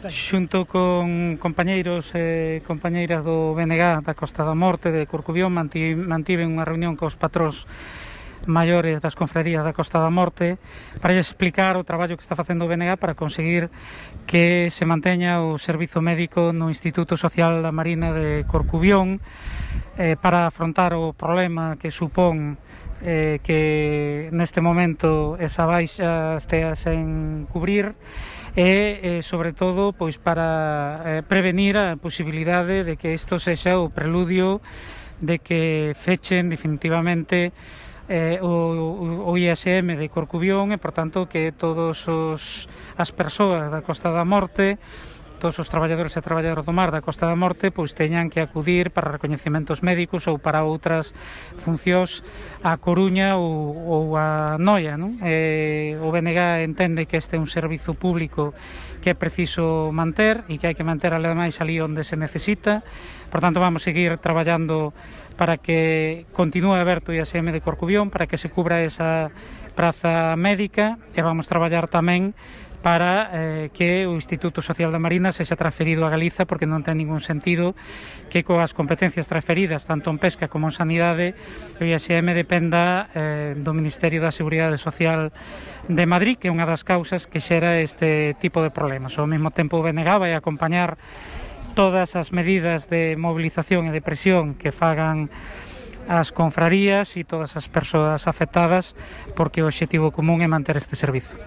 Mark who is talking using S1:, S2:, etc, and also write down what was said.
S1: Xunto con compañeiros e compañeiras do BNG da Costa da Morte de Corcubión mantiven unha reunión cos patróns maiores das confrarías da Costa da Morte para explicar o traballo que está facendo o BNG para conseguir que se manteña o servizo médico no Instituto Social da Marina de Corcubión, para afrontar o problema que supón que neste momento esa baixa estea sen cubrir e sobre todo pois para prevenir a posibilidade de que isto sexa o preludio de que fechen definitivamente o ISM de Corcubión e, por tanto, que todas as persoas da Costa da Morte, todos os traballadores e traballadoras do mar da Costa da Morte, pois teñan que acudir para recoñecementos médicos ou para outras funcións a Coruña ou a Noia, non? O BNG entende que este é un servizo público que é preciso manter e que hai que manter ademais ali onde se necesita. Por tanto, vamos seguir traballando para que continúe aberto o ISM de Corcubión, para que se cubra esa praza médica, e vamos traballar tamén para que o Instituto Social da Marina sexa transferido a Galiza, porque non ten ningún sentido que coas competencias transferidas tanto en pesca como en sanidade o ISM dependa do Ministerio da Seguridade Social de Madrid, que é unha das causas que xera este tipo de problemas. Ao mesmo tempo o BNG vai acompañar todas as medidas de movilización e de presión que fagan as confrarías e todas as persoas afectadas, porque o obxectivo común é manter este servizo.